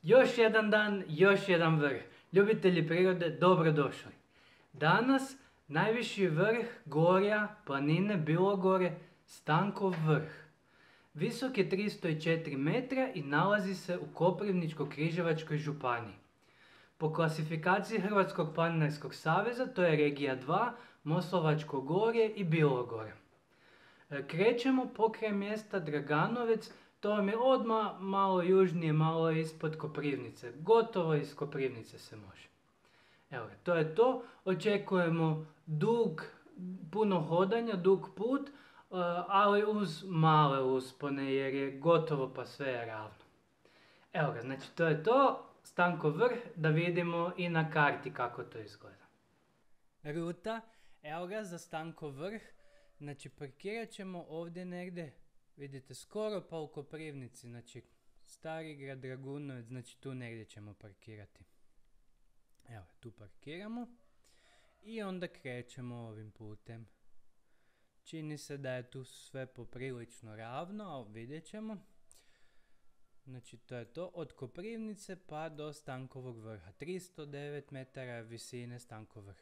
Još jedan dan, još jedan vrh. Ljubitelji prirode, dobrodošli. Danas najviši vrh gorja planine Bilogore, Stankov vrh. Visok je 304 metra i nalazi se u Koprivničko-križevačkoj županiji. Po klasifikaciji Hrvatskog planinarskog saveza to je regija 2, Moslavačko gorje i Bilogora. Krećemo pokraj mjesta Draganovec, to vam je odmah malo južnije, malo ispod Koprivnice. Gotovo iz Koprivnice se može. Evo, to je to. Očekujemo puno hodanja, dug put, ali uz male uspone jer je gotovo pa sve je ravno. Evo ga, znači to je to. Stankov vrh, da vidimo i na karti kako to izgleda. Ruta, evo ga za Stankov vrh. Znači parkirat ćemo ovdje negdje, vidite, skoro pa u Koprivnici, znači Starigrad, Dragunovac, znači tu negdje ćemo parkirati. Evo, tu parkiramo i onda krećemo ovim putem. Čini se da je tu sve poprilično ravno, ali vidjet ćemo. Znači to je to, od Koprivnice pa do Stankovog vrha, 309 metara visine Stankov vrh.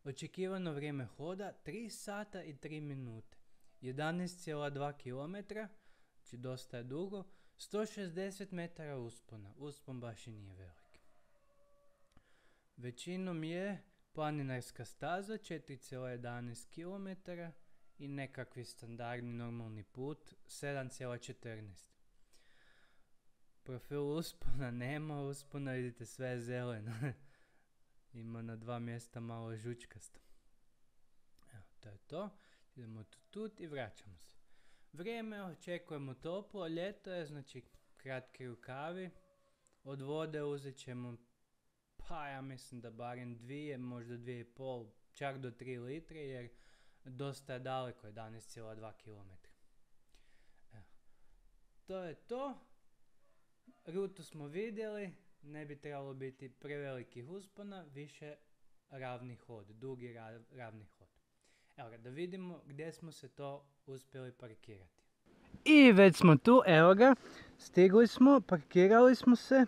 Očekivano vrijeme hoda 3 sata i 3 minute, 11,2 km, znači dosta je dugo, 160 metara uspona, uspon baš i nije velik. Većinom je planinarska staza 4,11 km i nekakvi standardni normalni put 7,14. Profil uspona nema, uspona vidite sve je zeleno. Ima na 2 mjesta malo žučkasto. Evo, to je to. Idemo tut i vraćamo se. Vrijeme očekujemo toplo, ljeto je, znači kratki rukavi. Od vode uzet ćemo, pa ja mislim da barem 2, možda 2,5, čak do 3 litre, jer dosta je daleko, 11,2 km. Evo, to je to. Rutu smo vidjeli. Ne bi trebalo biti prevelikih uspona, više ravni hod, dugi ravni hod. Evo ga, da vidimo gdje smo se to uspjeli parkirati. I već smo tu, evo ga, stigli smo, parkirali smo se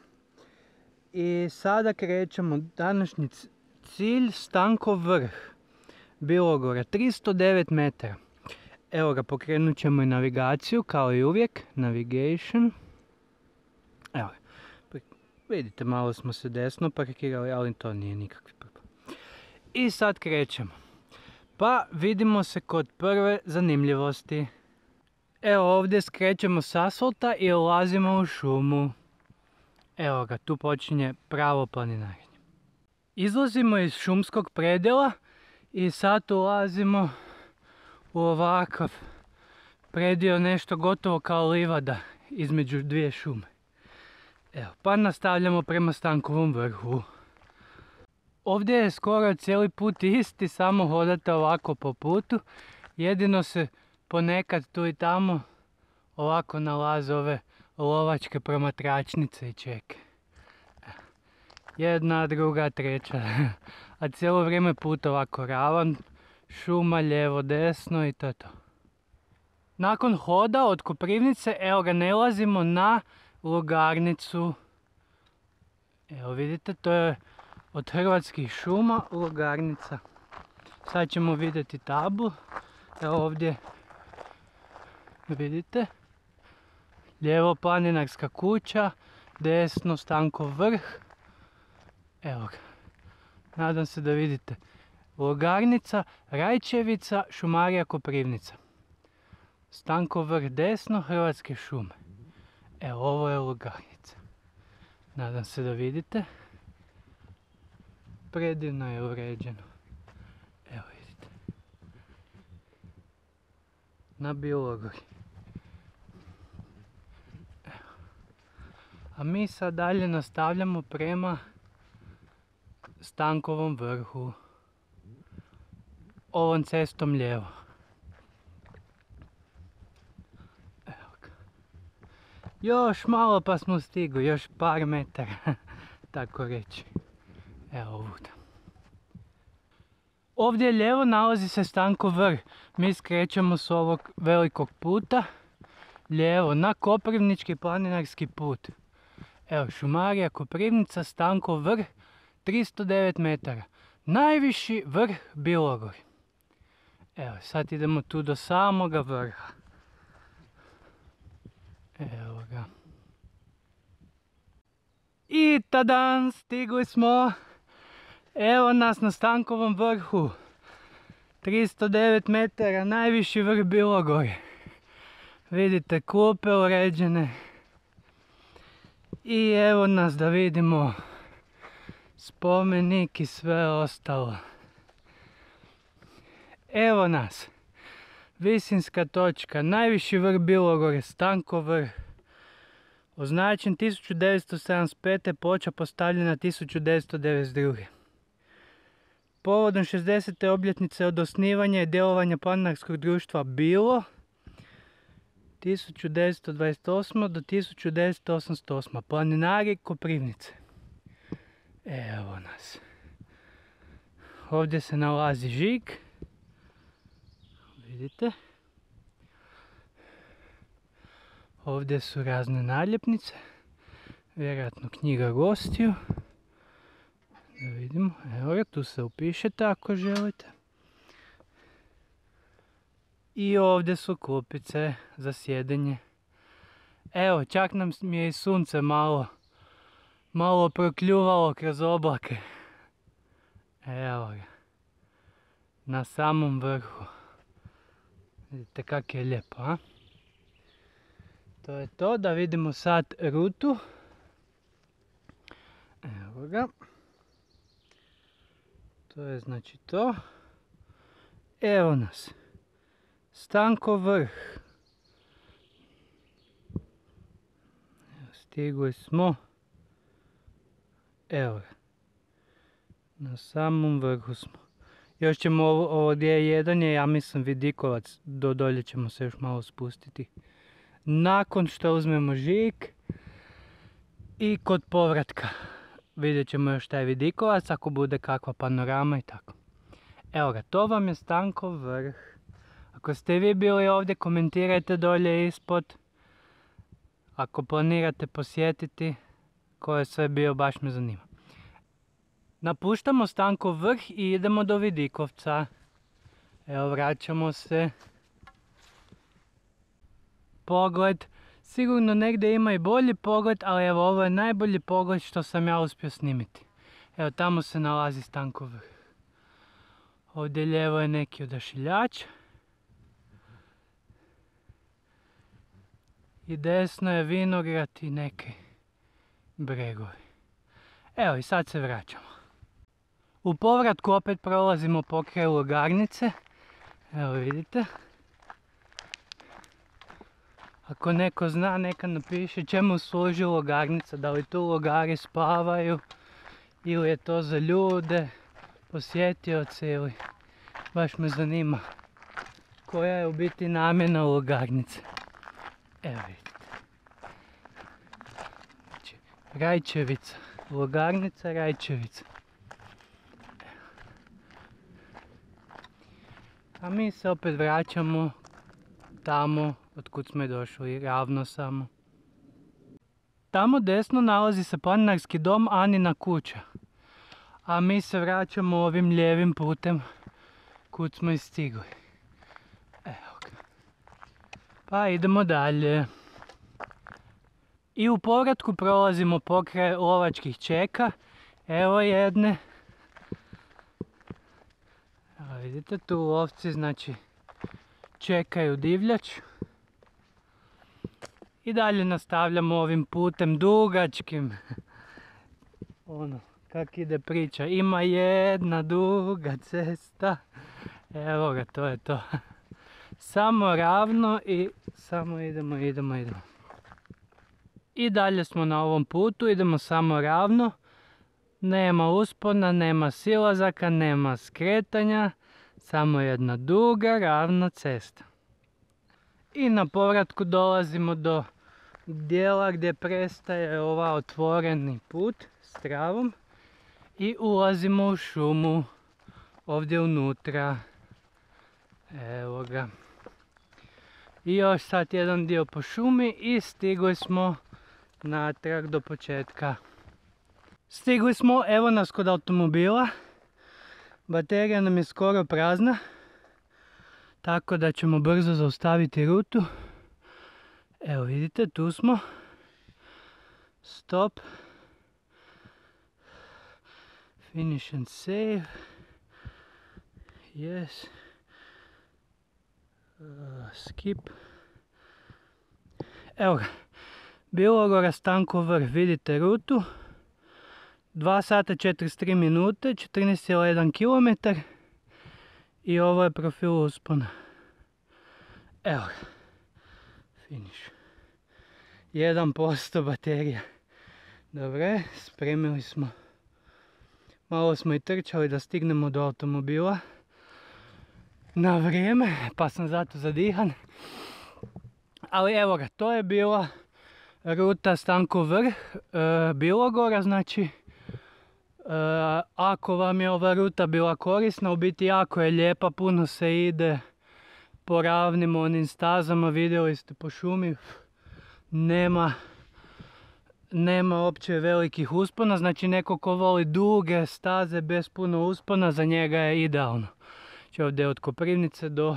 i sada krećemo. Današnji cilj Stankov vrh, Bilogora, 309 metara. Evo ga, pokrenut ćemo i navigaciju kao i uvijek, navigation. Evo ga. Vidite, malo smo se desno parkirali, ali to nije nikakvi problem. I sad krećemo. Pa vidimo se kod prve zanimljivosti. Evo ovdje skrećemo s asfalta i ulazimo u šumu. Evo ga, tu počinje pravo planinarenje. Izlazimo iz šumskog predjela i sad ulazimo u ovakav predjel, nešto gotovo kao livada između dvije šume. Evo, pa nastavljamo prema Stankovom vrhu. Ovdje je skoro cijeli put isti, samo hodate ovako po putu. Jedino se ponekad tu i tamo ovako nalaze ove lovačke promatračnice i čeke. Jedna, druga, treća. A cijelo vrijeme put ovako ravan, šuma lijevo, desno i to je to. Nakon hoda od Koprivnice, evo ga, nalazimo na Logarnicu. Evo vidite, to je od Hrvatskih šuma Logarnica. Sad ćemo vidjeti tablu. Evo ovdje vidite. Lijevo planinarska kuća, desno Stankov vrh. Evo ga. Nadam se da vidite. Logarnica, Rajčevica, šumarija Koprivnica. Stankov vrh desno, Hrvatske šume. Evo, ovo je Logarnica. Nadam se da vidite. Predivno je uređeno. Evo vidite. Na Bilogori. Evo. A mi sad dalje nastavljamo prema Stankovom vrhu. Ovom cestom lijevo. Još malo pa smo stigli, još par metara, tako reći. Evo ovdje. Ovdje lijevo nalazi se Stankov vrh. Mi skrećemo s ovog velikog puta lijevo na Koprivnički planinarski put. Evo, šumarija Koprivnica, Stankov vrh, 309 metara. Najviši vrh Bilogore. Evo, sad idemo tu do samoga vrha. Evo ga. I tadan, stigli smo. Evo nas na Stankovom vrhu. 309 metara, najviši vrh Bilogore. Vidite, klupe uređene. I evo nas da vidimo spomenik i sve ostalo. Evo nas. Visinska točka, najviši vrh Bilogore, Stankov vrh. Označen 1975. Ploča postavljena 1992. Povodom 60. obljetnice od osnivanja i djelovanja planinarskog društva Bilo 1928. do 1988. Planinari Koprivnice. Evo nas. Ovdje se nalazi žig. Vidite. Ovdje su razne naljepnice. Vjerojatno knjiga gostiju. Da vidimo. Evo ga, tu se upišete ako želite. I ovdje su klupice za sjedenje. Evo, čak nam je i sunce malo prokljuvalo kroz oblake. Evo ga. Na samom vrhu. Vidite kak je lijepo, a? To je to, da vidimo sad rutu. Evo ga. To je znači to. Evo nas. Stankov vrh. Stigli smo. Evo ga. Na samom vrhu smo. Još ćemo ovo gdje je jedan je, ja mislim, vidikovac. Do dolje ćemo se još malo spustiti. Nakon što uzmemo žig i kod povratka vidjet ćemo još taj vidikovac ako bude kakva panorama i tako. Evo ga, to vam je Stankov vrh. Ako ste vi bili ovdje, komentirajte dolje ispod. Ako planirate posjetiti, ko je sve bio, baš me zanima. Napuštamo Stankov vrh i idemo do Vidikovca. Evo, vraćamo se. Pogled. Sigurno negdje ima i bolji pogled, ali evo, ovo je najbolji pogled što sam ja uspio snimiti. Evo, tamo se nalazi Stankov vrh. Ovdje lijevo je neki odašiljač. I desno je vinograd i neki bregovi. Evo, i sad se vraćamo. U povratku opet prolazimo pokraj Logarnice. Evo vidite. Ako neko zna, neka napiše čemu služi Logarnica. Da li tu logari spavaju ili je to za ljude, posjetioce ili... Baš me zanima koja je u biti namjena Logarnice. Evo vidite. Znači, Rajčevica. Logarnica, Rajčevica. A mi se opet vraćamo tamo otkud smo došli, ravno samo. Tamo desno nalazi se planinarski dom Anina kuća. A mi se vraćamo ovim lijevim putem kud smo i stigli. Evo ga. Pa idemo dalje. I u povratku prolazimo pokraj lovačkih čeka. Evo jedne. Evo vidite, tu lovci znači čekaju divljač. I dalje nastavljamo ovim putem dugačkim. Ono, kak ide priča. Ima jedna duga cesta. Evo ga, to je to. Samo ravno i samo idemo. I dalje smo na ovom putu, idemo samo ravno. Nema uspona, nema silazaka, nema skretanja. Samo jedna duga, ravna cesta. I na povratku dolazimo do dijela gdje prestaje ova otvoreni put s travom. I ulazimo u šumu. Ovdje unutra. Evo ga. I još sad jedan dio po šumi i stigli smo natrag do početka. Stigli smo, evo nas kod automobila. Baterija nam je skoro prazna, tako da ćemo brzo zaustaviti rutu. Evo vidite, tu smo. Stop. Finish and save. Yes. Skip. Evo ga. Bilogora, Stankov vrh, vidite rutu. 2 sata 43 minute, 14,1 km. I ovo je profil uspona. Evo ga. Finish. 1% baterija. Dobre, spremili smo. Malo smo i trčali da stignemo do automobila na vrijeme, pa sam zato zadihan. Ali evo ga, to je bila ruta Stankov vrh, Bilogora, znači ako vam je ova ruta bila korisna, u biti jako je lijepa, puno se ide po ravnim onim stazama, vidjeli ste po šumi, nema uopće velikih uspona, znači neko ko voli duge staze bez puno uspona, za njega je idealno. Znači ovdje od Koprivnice do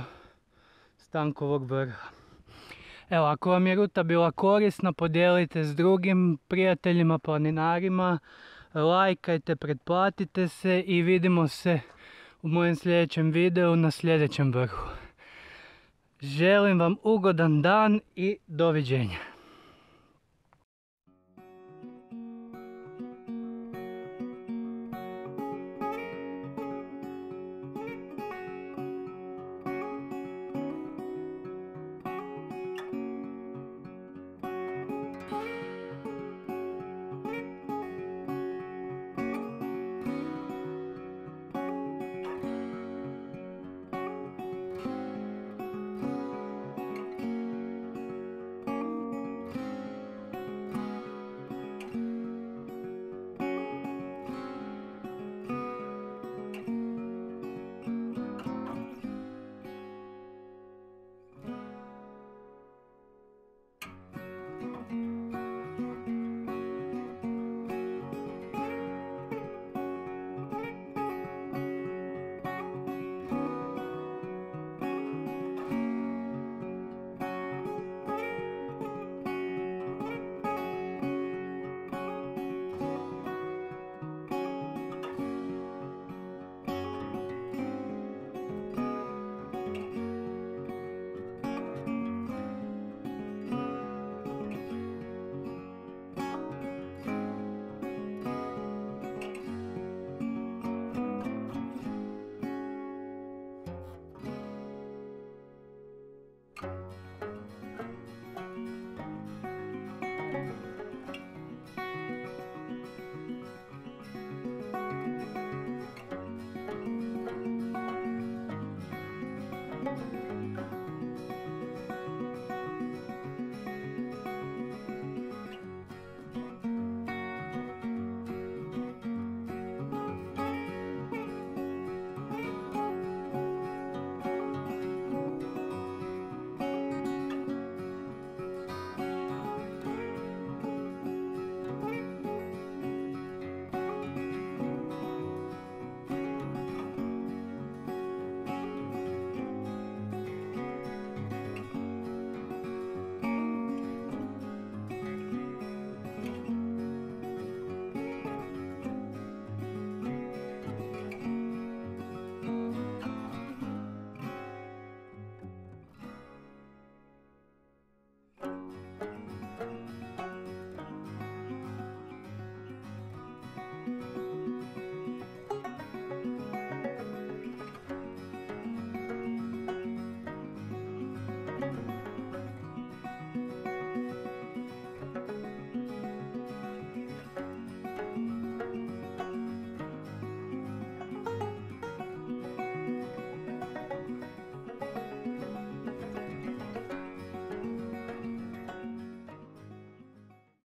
Stankovog vrha. Evo, ako vam je ruta bila korisna, podijelite s drugim prijateljima, planinarima, lajkajte, pretplatite se i vidimo se u mojem sljedećem videu na sljedećem vrhu. Želim vam ugodan dan i doviđenja.